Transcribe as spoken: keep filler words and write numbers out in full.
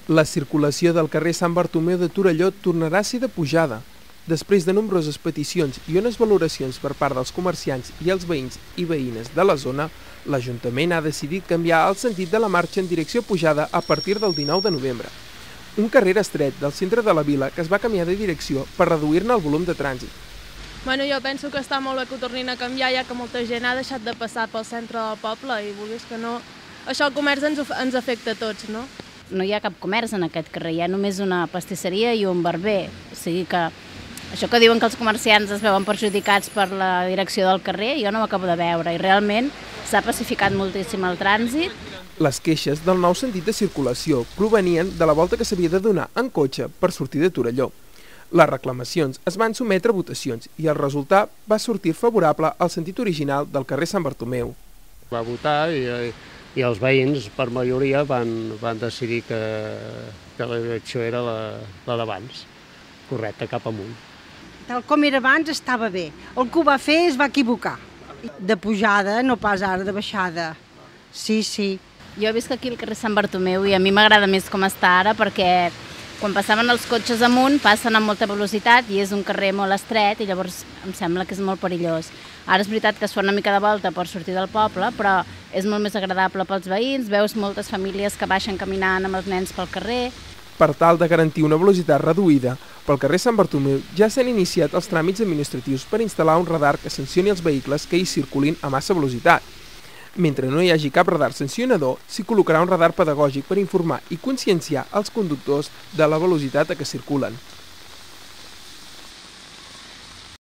La circulació del carrer Sant Bartomeu de Torelló tornarà a ser de pujada. Després de nombroses peticions i unes valoracions per part dels comerciants i els veïns i veïnes de la zona, l'Ajuntament ha decidit canviar el sentit de la marxa en direcció pujada a partir del dinou de novembre. Un carrer estret del centre de la vila que es va canviar de direcció per reduir-ne el volum de trànsit. Bueno, jo penso que està molt bé que ho tornin a canviar, ja que molta gent ha deixat de passar pel centre del poble i vulguis que no, això el comerç ens, ens afecta a tots, no? No hi ha cap comerç en aquest carrer, hi ha només una pastisseria i un barber, o sigui que això que diuen que els comerciants es veuen perjudicats per la direcció del carrer, jo no ho acabo de veure i realment s'ha pacificat moltíssim el trànsit. Les queixes del nou sentit de circulació provenien de la volta que s'havia de donar en cotxe per sortir de Torelló. Les reclamacions es van sometre a votacions i el resultat va sortir favorable al sentit original del carrer Sant Bartomeu. Va votar i, i els veïns, per majoria, van, van decidir que, que la direcció era la, la d'abans, correcta, cap amunt. Tal com era abans estava bé. El que ho va fer es va equivocar. De pujada, no pas ara de baixada. Sí, sí. Jo he vist aquí el carrer Sant Bartomeu i a mi m'agrada més com està ara perquè quan passaven els cotxes amunt passen amb molta velocitat i és un carrer molt estret i llavors em sembla que és molt perillós. Ara és veritat que es fa una mica de volta per sortir del poble, però és molt més agradable pels veïns, veus moltes famílies que baixen caminant amb els nens pel carrer. Per tal de garantir una velocitat reduïda, pel carrer Sant Bartomeu ja s'han iniciat els tràmits administratius per instal·lar un radar que sancioni els vehicles que hi circulin a massa velocitat. Mentre no hi hagi cap radar sancionador, s'hi col·locarà un radar pedagògic per informar i conscienciar els conductors de la velocitat a què circulen.